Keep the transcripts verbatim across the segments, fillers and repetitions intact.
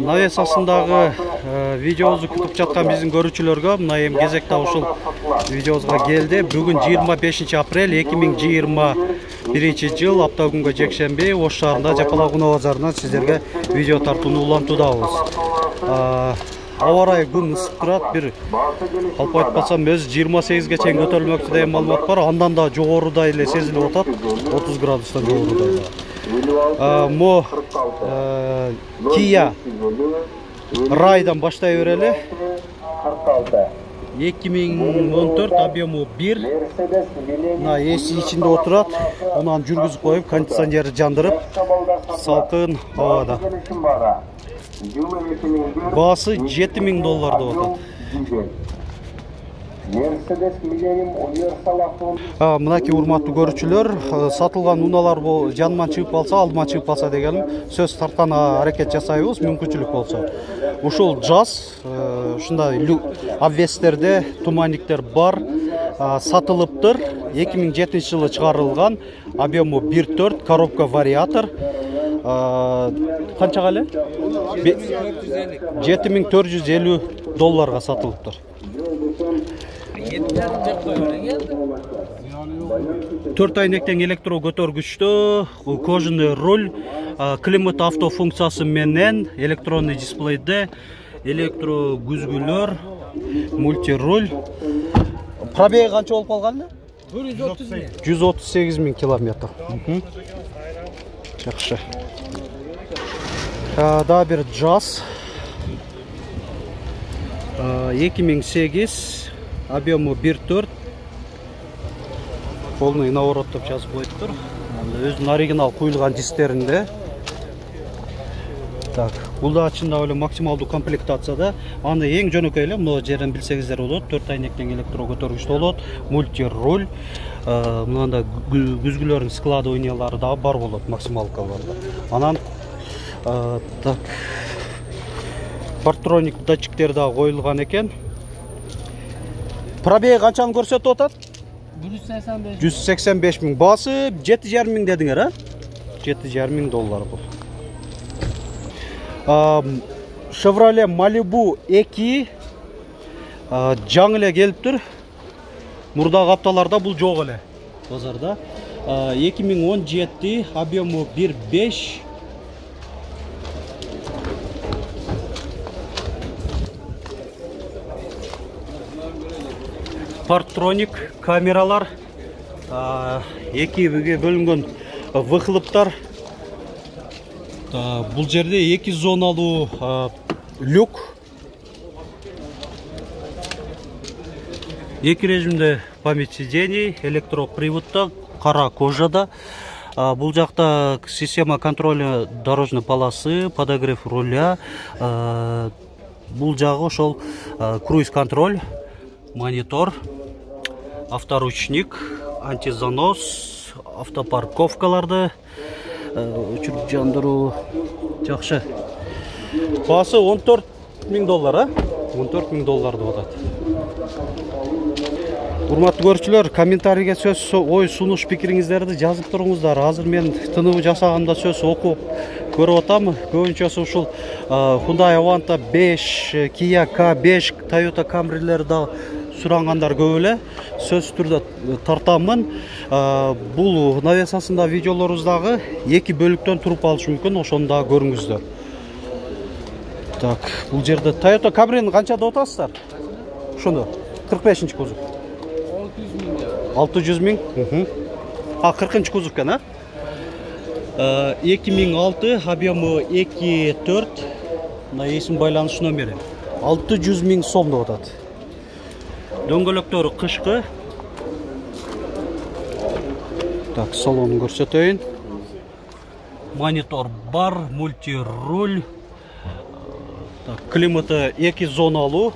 Навесасындагы видеобузду күтүп жаткан биздин көрүүчүлөргө мына эми кезекте ушул видеобузга келди. Бүгүн жыйырма бешинчи апрель эки миң жыйырма биринчи жыл аптагүнгө жекшемби Ош шаарында Жапалак унаа базарынан сиздерге видео тартууну улантуудабыз. Аба ырайы күн ысып турат, бир калп айтпасам өзү жыйырма сегизге чейин көтөрүлмөктү деген маалымат бар. Андан да жогоруда эле сезилип атат, отуз градустан жогоруда. Мо Kia Ray'dan баштай берели. эки миң он төрт объему бир. Мына эси ичинде отурат. Унан жүргүзүп коюп, кондиционерди жандырып, салкын абада. Баасы жети миң доллар деп атат. Мынакей урматтуу көрүүчүлөр, сатылган унаалар жанынан чыгып калса, алдыма чыгып калса дегеним, сөз тартана аракет жасайбыз, мүмкүнчүлүк болсо. Ушул жаз ушундай обвестерде туманниктер бар, сатылыптыр. эки миң жетинчи жылы чыгарылган, объему бир төрт, коробка вариатор. Канчага эле? жети миң төрт жүз элүү долларга сатылыптыр. төрт айнектен электро көтөргүчтө, кожаный руль, климат авто функциясы менен, электронный дисплейде, электро күзгүлөр, мультируль. Пробеги канча болуп калган эле? жүз отуз сегиз миң километр. Жакшы. Да бир жаз. эки миң сегиз, объему бир төрт. Полный наворот деп жазып коюптур. Өзүнүн оригинал куюлган дистеринде. Так, бул да чындап эле максималдуу комплектацияда. Аны эң жөнөкөй эле, мына жерден билсеңиздер болот. төрт айнектен электро көтөргүчтө болот, мультируль, мынанда күзгүлөрдүн складываниялары да бар болот, максималкаларда. Анан так, партроник датчиктер да коюлган экен. Пробеги канчаны көрсөтүп атат? жүз сексен беш миң. Баасы жети жарым миң дедиңер, а? жети жарым миң доллар бул. Chevrolet Malibu эки жаңы эле келиптир. Мурдагы апталарда бул жок эле базарда. эки миң он жети, объему бир беш. Партроник камералар, экиге бөлүнгөн выхлоптор. Бул жерде эки зоналуу люк. Эки режимде память сидений, электроприводто, кара кожада. Бул жакта система контроля дорожной полосы, подогрев руля. Бул жагы ошол круиз контроль, монитор, авторучник, антизанос, автопарковкаларды өчүрүп жандыруу. Жакшы. Баасы он төрт миң доллар, а? он төрт миң доллар деп атат. Урматтуу көрүүчүлөр, комментарийге сөз ой сунуш пикириңиздерди жазып туруңуздар. Азыр мен тыныбы жасаганда сөз окуп көрүп атам. Көбүнчөсү ушул Hyundai Avanta беш, Kia К беш, Toyota Camry'лер да сурангандар көп эле. Сөз түрдө тартамын. Бул навесасында видеолоруңуздагы эки бөлүктөн туруп алышы мүмкүн, ошону да көрүңүздөр. Так, бул жерде Toyota Camry'ни канча деп атасыздар? Ошону кырк бешинчи кузов. алты жүз миң. А, кыркынчы кузов экен, а? эки миң алты, объему эки төрт. Мына эсим байланыш номери. алты жүз миң сом деп атат. Дөңгөлөктөрү кышкы. Так, салонун көрсөтөйүн. Монитор бар, мультируль. Так, климаты эки зоналуу.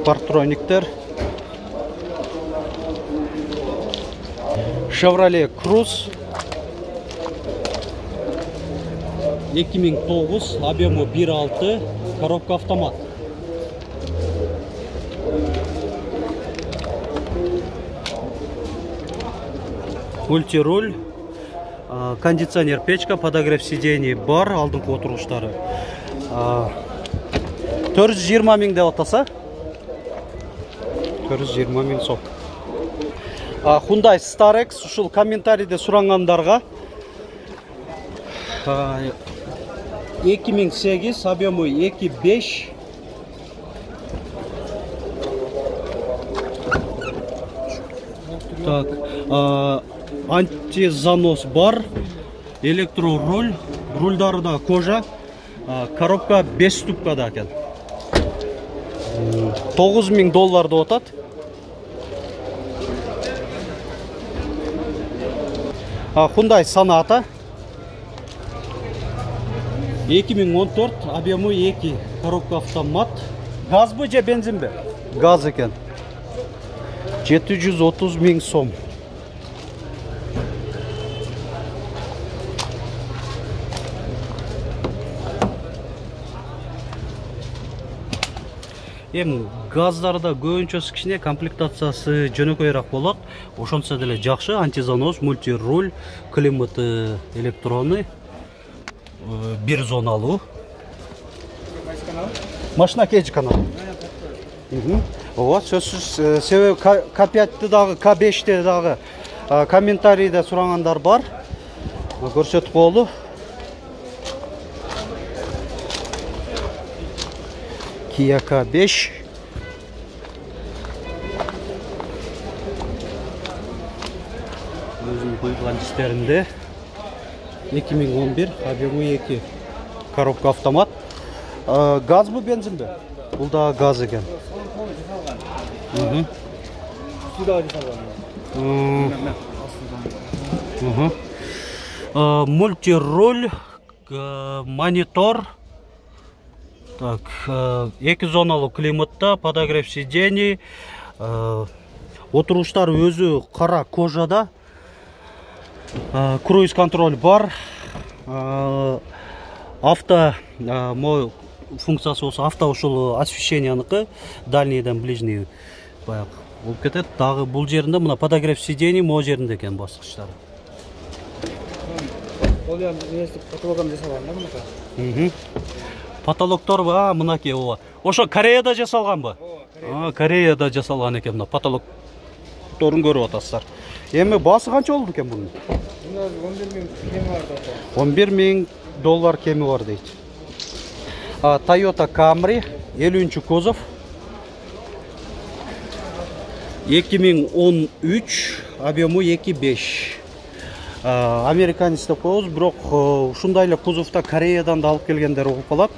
Партрониктер. Chevrolet Cruze эки миң тогуз, объему бир алты, коробка автомат. мультируль, кондиционер печка, подогрев сидений бар, алдыңкы отургучтары. төрт жүз жыйырма миң деп атаса. төрт жүз жыйырма миң сом. Hyundai Starex ушул комментарийде сурангандарга эки миң сегиз, объему эки беш. Так, антизанос бар, электроруль, рульдары да кожа, коробка беш ступкада экен. тогуз миң доллар деп атат. Hyundai Sonata эки миң он төрт, объему эки, коробка автомат. Газбы же бензинби? Газ экен. жети жүз отуз миң сом. Эми газдарда көбүнчөсү кичине комплектациясы жөнөкөйрөөк болот. Ошончо деле жакшы, антизанос, мультируль, климаты электронный, бир зоналуу. Машина кеч канал. Ооба, сөзсүз, себеби К пятти дагы, К бешти дагы комментарийде сурангандар бар. Көрсөтүп коелу. Kia К беш. Өзүнүн куйган дистеринде эки миң он бир, объему эки, коробка автомат. Газбы бензинби? Бул да газ экен. Мультируль, монитор. Так, эки зоналуу климатта, подогрев сидений, отургучтар өзү кара кожада, круиз контроль бар, авто функциясы болсо авто ушул освещенияныкы, дальнийден ближний баягы болуп кетет. Дагы бул жеринде мына подогрев сидений могу жеринде экен баскычтары. Ол эми эмеси потологун жасалган да мынакей. Потолоктор ба, мынакей ооба. Ошо Кореяда жасалганбы? Ооба, Кореяда жасалган экен мына потолокторун көрүп атасыздар. Эми баасы канча болду экен бунун? он бир миң кеми бар да. он бир миң доллар кеми бар дейт. Toyota Camry элүүнчү кузов. эки миң он үч, объему эки беш. Американец деп коебуз, бирок ушундай эле кузовда Кореядан да алып келгендер угуп калат.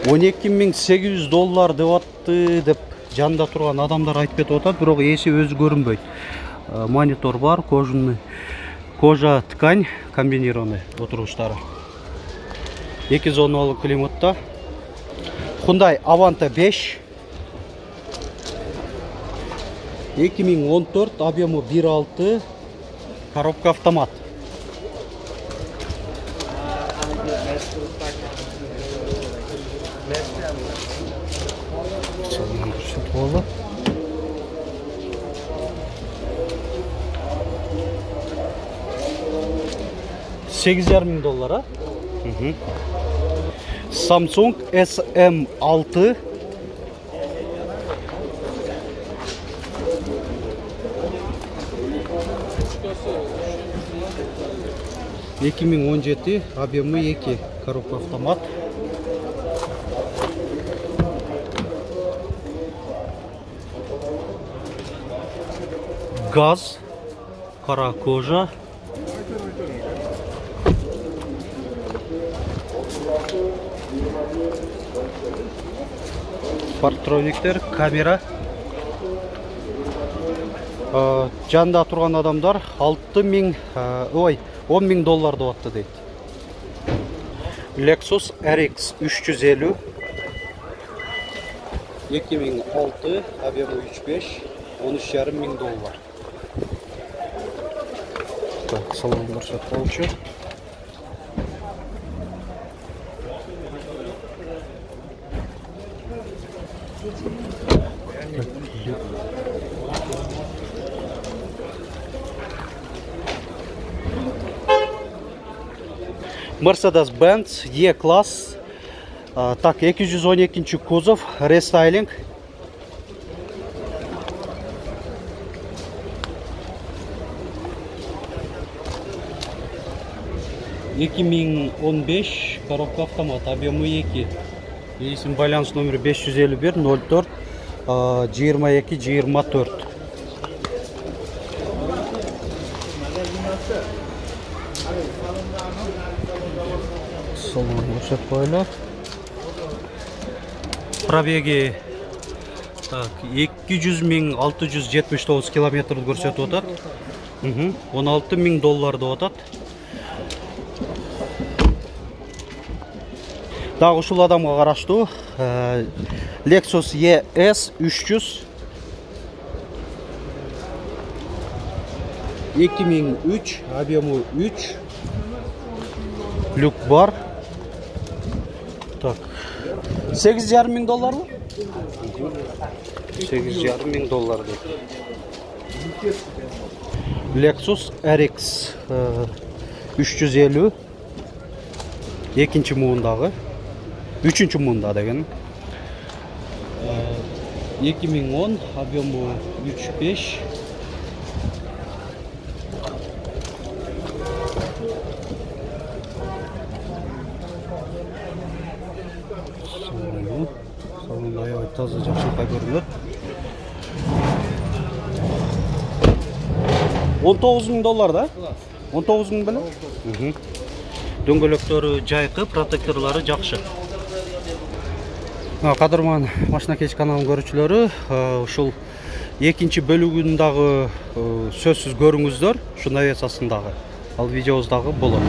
он эки миң сегиз жүз доллар деп атты деп жанында турган адамдар айтып кетип атат, бирок ээси өзү көрүнбөйт. Монитор бар, кожаный, кожа ткань, комбинированный отургучтары. эки зоналуу климатта. Hyundai Avanta беш. эки миң он төрт, объему бир алты, коробка автомат. сегиз жарым миң доллар, а? Samsung эс эм алты. эки миң он жети, объему эки, коробка автомат. Газ, кара кожа. Парктрониктер, камера. Жанда турган адамдар алты миң, ой, он миң доллар деп атты дейт. Lexus эр икс үч жүз элүү. эки миң алты, объему үч беш, он үч жарым миң доллар. Так, салон көрсөтүп коелучу. Mercedes-Benz E класс. Так, эки жүз он экинчи кузов, рестайлинг. эки миң он беш, коробка автомат, объемы эки. Есім байланыс номері беш жүз элүү бир ноль төрт жыйырма эки жыйырма төрт. Салон көрсөтүп коелу. Пробеги так эки жүз миң алты жүз жетимиш тогуз километрди көрсөтүп атат. он алты миң доллар деп атат. Дагы ушул адамга караштуу Lexus E S үч жүз эки миң үч, объему үч. Люк бар. Так. сегиз жарым миң долларбы? сегиз жарым миң доллар дейт. Lexus R X үч жүз элүү. Экинчи муундагы. Үчүнчү муунда деген. эки миң он, объему үч беш. Салон аябай таза, жакшылыкка көрүнөт. он тогуз миң доллар да? он тогуз миң беле? Дөңгөлөктөрү жайкы, протекторлору жакшы. Кадырман машина кеч каналын көрүүчүлөрү, ушул экинчи бөлүгүндагы сөзсүз көрүңүздөр, ушундай эсасындагы. Ал видеобуздагы болот.